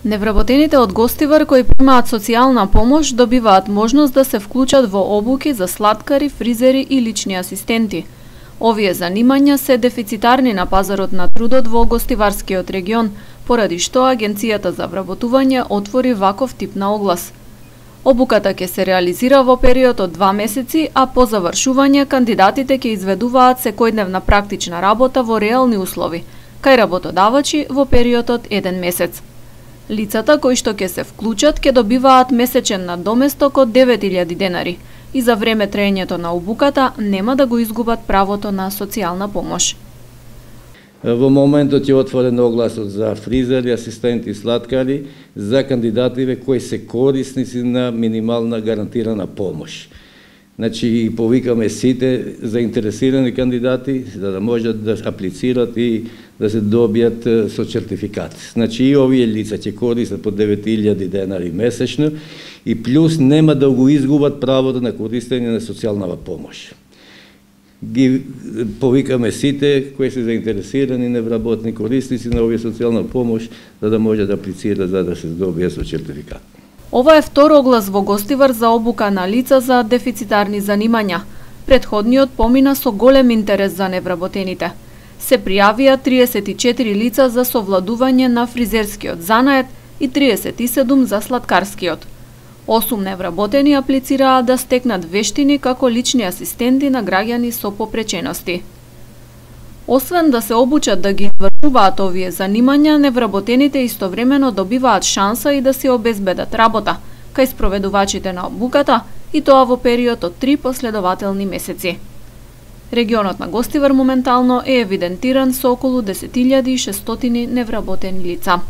Невработените од Гостивар кои примаат социјална помош добиваат можност да се вклучат во обуки за слаткари, фризери и лични асистенти. Овие занимања се дефицитарни на пазарот на трудот во Гостиварскиот регион, поради што Агенцијата за вработување отвори ваков тип на оглас. Обуката ќе се реализира во период од 2 месеци, а по завршување кандидатите ќе изведуваат секојдневна практична работа во реални услови, кај работодавачи во период од 1 месец. Лицата кои што ќе се вклучат ќе добиваат месечен надоместок од 9000 денари и за време траењето на обуката нема да го изгубат правото на социјална помош. Во моментот е отворен огласот за фризери, асистенти и слаткари за кандидативе кои се корисници на минимална гарантирана помош. Значи, повикаме сите заинтересирани кандидати за да можат да аплицират и да се добијат со сертификат. Значи, и овие лица ќе користат по 9000 денари месечно и плюс нема да го изгубат правото на користење на социјална помош. Ги повикаме сите кои се заинтересирани невработни корисници на овие социјална помош за да можат да аплицираат за да се добијат со сертификат. Ова е втор оглас во Гостивар за обука на лица за дефицитарни занимања. Предходниот помина со голем интерес за невработените. Се пријавија 34 лица за совладување на фризерскиот занает и 37 за слаткарскиот. 8 невработени аплицираа да стекнат вештини како лични асистенти на граѓани со попречености. Освен да се обучат да ги извршуваат овие занимања, невработените истовремено добиваат шанса и да се обезбедат работа кај спроведувачите на обуката, и тоа во период од 3 последователни месеци. Регионот на Гостивар моментално е евидентиран со околу 10.600 невработени лица.